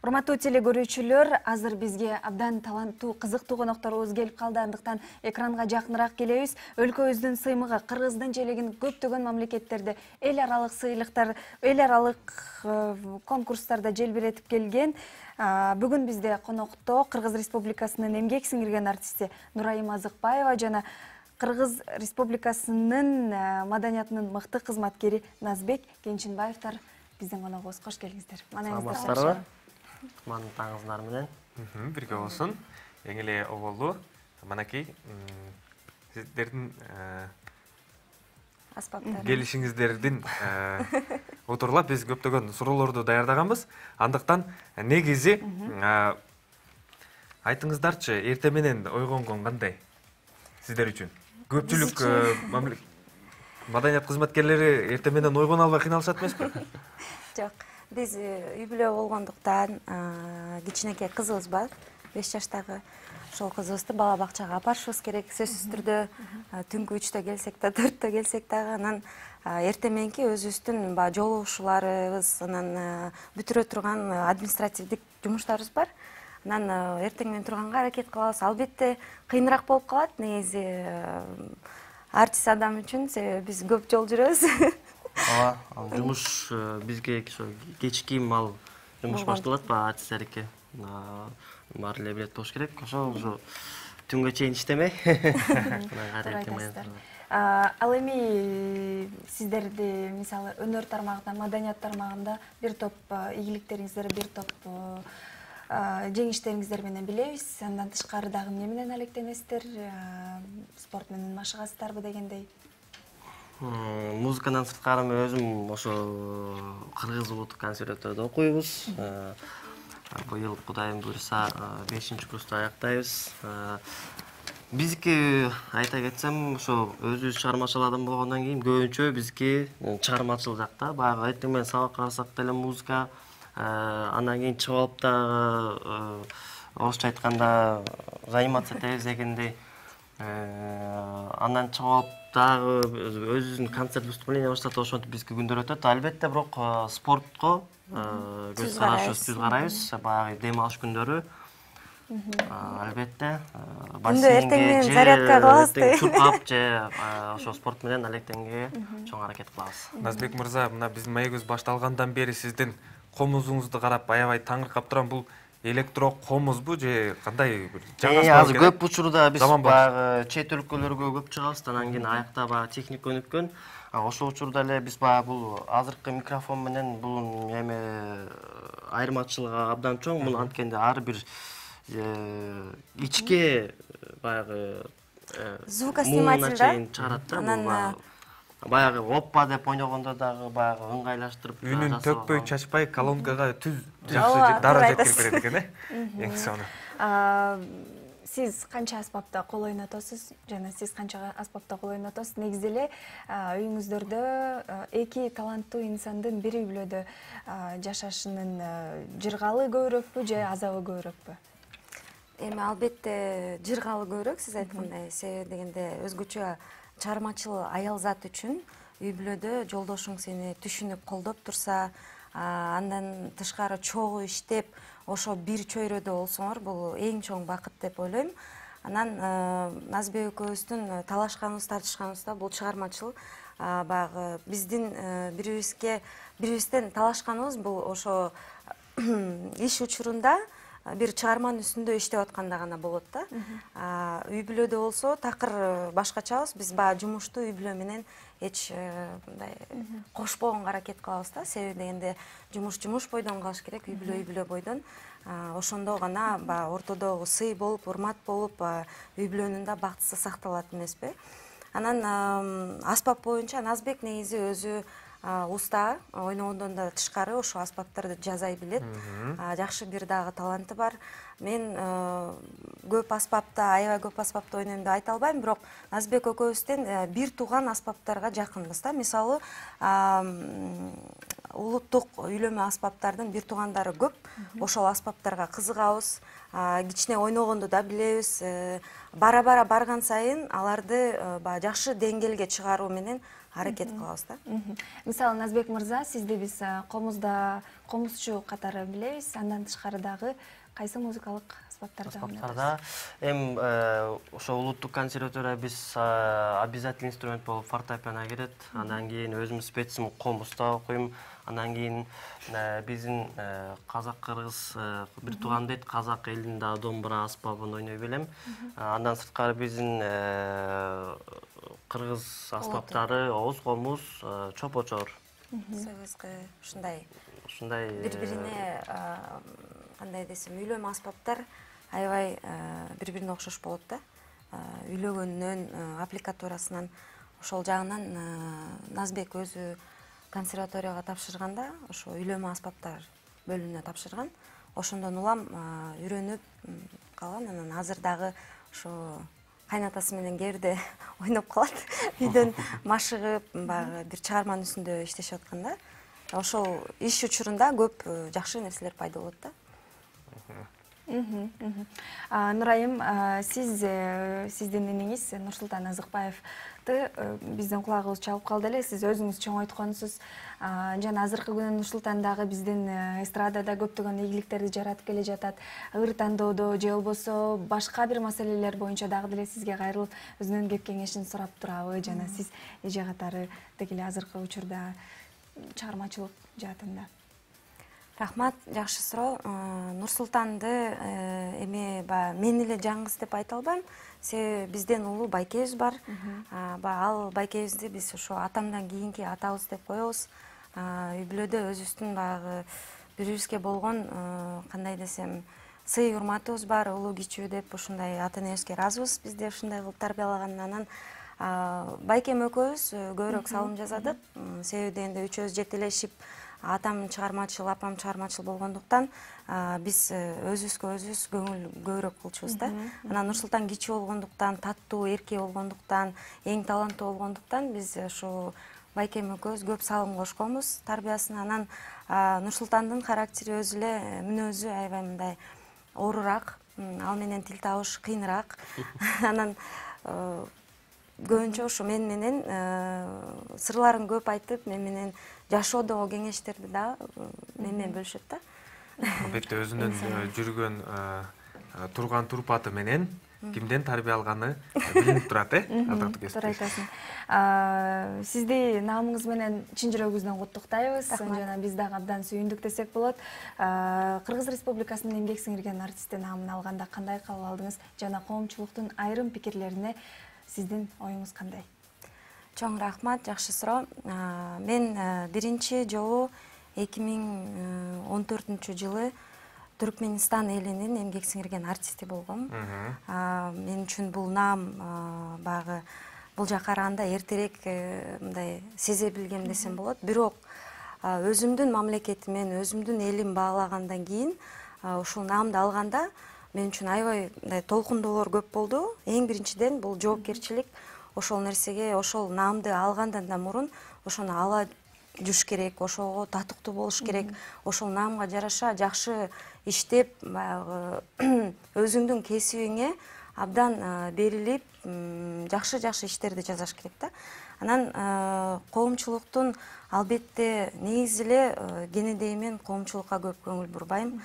Урматтуу телекөрүүчүлөр, азыр бизге абдан таланттуу, кызыктуу конокторубуз келип калды. Андыктан экранга жакыныраак келебиз. Өлкөбүздүн сыймыгы Кыргыздын желегин көптөгөн мамлекеттерде эл аралык сыйлыктар, эл аралык конкурстарда желбиретип келген. Бүгүн бизде конокто Кыргыз Республикасынын эмгек сиңирген артисти Нурайым Азыкбаева жана Кыргыз Республикасынын маданиятынын мыкты кызматкери Назбек Кенчинбаевдер биздин коногубуз. Кош келиңиздер. Саламатсыздарбы? Кутмандыктарыңыздар менен. Бирге болсун. Эң эле оболду. Манакей сиздердин келишиңиздердин отурлап биз көптөгөн суроолорду даярдаганбыз. Андыктан негизи айтыңыздарчы, эрте менен ойгонгон кандай сиздер үчүн? Көпчүлүк маданият кызматкерлери эрте менен ойгоно албай кыйналышат эмеспи? Жок, биз үй бүлө болгондуктан кичинекей кызыбыз бар, 5 жаштагы. Ошол кызыбызды бала бакчага апарышыбыз керек. Сөзсүз түрдө түнкү 3-тө келсек да, 4-тө келсек дагы, анан эрте мененки өзүбүздүн жолугушууларыбыз, анан бүтүрө турган административдик жумуштарыбыз бар. Анан эртең менен турганга аракет кылабыз. Албетте кыйыныраак болуп калат, негизи артист адам үчүн, себеби биз көп жол жүрөбүз. Ал жумуш бизге кечки жумуш башталат артисттердикке. Баары эле билет болуш керек. Ошо түнгө чейин иштемей. Ал эми сиздерди мисалы өнөр тармагында, маданият тармагында бир топ ийгиликтериңиздер, бир топ жеңиштериңиздер менен билебиз. Андан тышкары дагы эмне менен алектенесиздер? Спорт менен машыгасыздарбы дегендей? Музыкадан сырткары мен өзүм ошо кыргыз улуттук консерваторияда окуйбуз. Быйыл Кудайым буйруса 5-курста аяктайбыз. Биздики айта кетсем, ошо өзүбүз чыгармачыл адам болгондон кийин көбүнчө бизги чыгармачыл жакта, баягы эртең менен сабакка барсак деле музыка, андан кийин чыгып алып дагы орусча айтканда заниматься этебиз дегендей. Андан чыгып алып дагы өзүбүздүн концерт выступление баштатып ошентип бизге күндөр өтөт. Албетте бирок спортко көз карайбыз, баягы дем алыш күндөрү. Албетте эртең менен зарядка кылабызбы? Чуркап же ошо спорт менен алектенге чоң аракет кылабыз. Назбек мырза, мына биздин маегибиз башталгандан бери сиздин комузуңузду карап аябай таңыркап турам. Бул электрокомузбу же кандай бир жаңы? Азыр көп учурда биз баягы чет өлкөлөргө көп чыгабыз, анан кийин аякта баягы техника өнүккөн. Ошол учурда эле биз баягы бул азыркы микрофон менен бул эме айырмачылыгы абдан чоң. Бул анткенде ар бир ичке баягы звукосниматель чыгарат да. Баягы оппа деп ойногондо дагы баягы ыңгайлаштырып үнүн төкпөй чачпай колонкага түз жакшы дароо жеткирип берет экен, эң соңу. Сиз канча аспапта кол ойнотосуз жана сиз канча аспапта кол ойнотосуз? Негизи эле үйүңүздөрдө эки таланттуу инсандын бир үй бүлөдө жашашынын жыргалы көбүрөкпү же азабы көбүрөкпү? Эми албетте жыргалы көбүрөөк, сиз айткандай. Себеби дегенде өзгөчө чыгармачыл аял зат үчүн үй бүлөдө жолдошуң сени түшүнүп колдоп турса, андан тышкары чогуу иштеп, ошо бир чөйрөдө болсоңор, бул эң чоң бакыт деп ойлойм. Анан Назбек экөөбүздүн талашканыбыз, тартышканыбыз да бул чыгармачыл. Баягы биздин бирибизден талашканыбыз бул ошо иш учурунда бир чыгарманын үстүндө иштеп атканда гана болот да. Үй бүлөдө болсо такыр башкачабыз. Биз баягы жумушту үй бүлө менен эч мындай кошпогонго аракет кылабыз да. Себеби дегенде жумуш бойдон калыш керек, үй бүлө бойдон. Ошондо гана баягы ортодогу сый болуп, урмат болуп, үй бүлөнүн да бактысы сакталат эмеспи? Анан аспап боюнча Назбек негизи өзү уста, ойногондон да тышкары ошо аспаптарды жасай билет. Жакшы бир дагы таланты бар. Мен көп аспапта, аябай көп аспапта ойнойм деп айта албайм, бирок Назбек экөөбүздөн бир тууган аспаптарга жакынбыз да. Мисалы, улуттук үйлөнмө аспаптардын бир туугандары көп. Ошол аспаптарга кызыгабыз. Кичине ойногонду да билебиз. Бара-бара барган сайын аларды жакшы деңгээлге чыгаруу менен аракет кылабыз да. Мисалы Назбек мырза, сизди биз комузчу катары билебиз. Андан тышкары дагы кайсы музыкалык аспаптарда эми ошо улуттук консерватория биз обязательный инструмент болуп фортепиано кирет. Андан кийин өзүм специм комузда окуйм. Андан кийин биздин казак-кыргыз бир тууган дейт, казак элинин дагы домбура аспабын ойной билем. Андан сырткары биздин кыргыз аспаптары оз комуз, чопочор. Сыгызгы ушундай бири-бирине кандай десем, үйлөмө аспаптар аябай бири-бирине окшош болот да. Үйлөгөндөн, аппликатурасынан ошол жагынан Назбек өзү консерваторияга тапшырганда ошо үйлөмө аспаптар бөлүмүнө тапшырган. Ошондон улам үйрөнүп калган. Анан азыр дагы ошо кайнатасы менен кээ бирде ойноп калат. Үйдөн машыгып, баягы бир чыгарманын үстүндө иштешип атканда, ошол иш учурунда көп жакшы нерселер пайда болот да. Нурайым, сиздин инеңиз Нурсултан Азыкбаевди биздин кулагыбыз чалып калды эле. Сиз өзүңүз чоң айткансыз. Жана азыркы күнү Нурсултан дагы биздин эстрадада көптөгөн ийгиликтерди жаратып келе жатат. Ыр тандоодо же болбосо башка бир маселелер боюнча дагы деле сизге кайрылып өзүнүн кеп кеңешин сурап турабы? Жана сиз эже катары деги эле азыркы учурда чыгармачылык жаатында. Рахмат, жакшы суроо. Нурсултанды эми мен эле жаңгыз деп айта албайм. Себеби бизден улуу байкебиз бар. Ал байкебизди биз ошо атамдан кийинки атабыз деп коебуз. Үй бүлөдө өзүбүздүн баягы бири-бирибизге болгон кандай десем, сый урматыбыз бар, улуу кичүү деп ушундай ата энебизге ыраазыбыз. Бизди ушундай кылып тарбиялагандан байкем экөөбүз көбүрөөк салым жасадык. Себеби дегенде үчөөбүз жетелешип, атам чыгармачыл, апам чыгармачыл болгондуктан биз өзүбүзгө өзүбүз көңүл көбүрөөк кылчубуз да. Анан Нурсултан кичүү болгондуктан, таттуу, эрке болгондуктан, эң таланттуу болгондуктан биз ошо байкем экөөбүз көп салым кошконбуз тарбиясына. Анан Нурсултандын характери өзү эле, мүнөзү аябай мындай оорураак, ал менен тил табыш кыйыныраак. Анан көбүнчө ошо мен менен сырларын көп айтып, мен менен жашоодогу кеңештерди да мен менен бөлүшөт да. Албетте өзүнүн жүргөн турган турпаты менен кимден тарбия алганы билинип турат, ардактуу кесиптеш. Туура айтасың. Сизди наамыңыз менен чын жүрөгүбүздөн куттуктайбыз. Жана биз дагы абдан сүйүндүк десек болот. Кыргыз Республикасынын эмгек сиңирген артисти наамын алганда кандай кабыл алдыңыз? Жана коомчулуктун айрым пикирлерине сиздин оюңуз кандай? Чоң рахмат, жакшы суроо. Мен биринчи жолу 2014-жылы Түркменистан элинин эмгек сиңирген артисти болгом. Мен үчүн бул наам баягы бул жака караганда эртерээк мындай сезе билгем десем болот. Бирок өзүмдүн мамлекетимен, өзүмдүн элим баалагандан кийин ушул наамды алганда мен үчүн аябай мындай толкундоолор көп болду. Эң биринчиден бул жоопкерчилик. Ошол нерсеге, ошол наамды алгандан да мурун ошону ала жүш керек, ошого татыктуу болуш керек. Ошол наамга жараша жакшы иштеп, баягы өзүңдүн кесибиңе абдан берилип, жакшы иштерди жасаш керек да. Анан коомчулуктун албетте негизи эле кенедей мен коомчулукка көп көңүл бурбайм.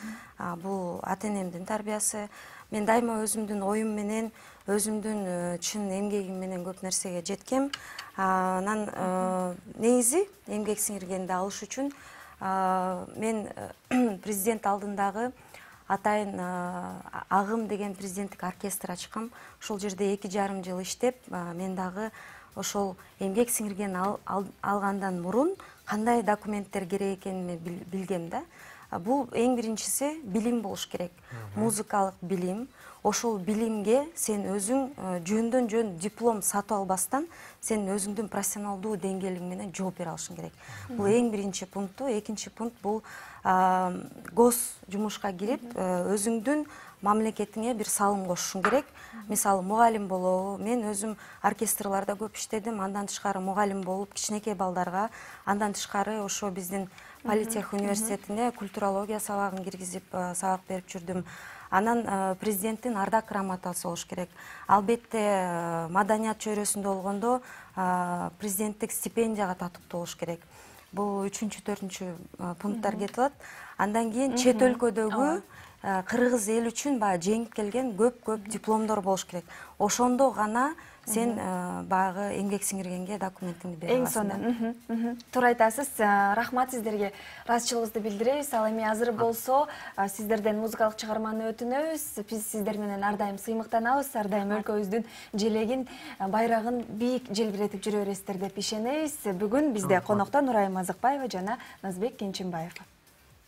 Бул ата энемдин тарбиясы. Мен дайыма өзүмдүн оюм менен, өзүмдүн чын эмгегим менен көп нерсеге жеткем. Анан негизи эмгек сиңиргенди алыш үчүн мен президент алдындагы атайын Агым деген президенттик оркестр ачкам. Ошол жерде 2,5 жыл иштеп, мен дагы ошол эмгек сиңирген алгандан мурун кандай документтер керек экенин билгем да. Бул эң биринчиси билим болуш керек. Музыкалык билим. Ошол билимге сен өзүң жөндөн жөн диплом сатып албастан, сен өзүңдүн профессионалдуу деңгээлиң менен жооп бере алышың керек. Бул эң биринчи пункту. Экинчи пункт бул гос жумушка кирип, өзүңдүн мамлекетиңе бир салым кошушуң керек. Мисалы, мугалим болобу. Мен өзүм оркестрларда көп иштедим. Андан тышкары мугалим болуп, кичинекей балдарга, андан тышкары ошо биздин Политех университетине культурология сабагын киргизип сабак берип жүрдүм. Анан президенттин ардак грамотасы болуш керек. Албетте маданият чөйрөсүндө болгондо президенттик стипендияга татыктуу болуш керек. Бул 3-4 пункттар кетип атат. Андан кийин чет өлкөдөгү кыргыз эл үчүн баягы жеңип келген көп дипломдор болуш керек. Ошондо гана сен баягы эмгек сиңиргенге документиңди бере аласың. Эң сонун. Туура айтасыз. Рахмат сиздерге. Ыраазычылыгыбызды билдиребиз. Ал эми азыр болсо сиздерден музыкалык чыгарманы өтүнөбүз. Биз сиздер менен ар дайым сыймыктанабыз, ар дайым өлкөбүздүн желегин, байрагын бийик желбиретип жүрө бересиздер деп ишенебиз. Бүгүн бизде конокто Нурайым Азыкбаева жана Назбек Кенченбаев.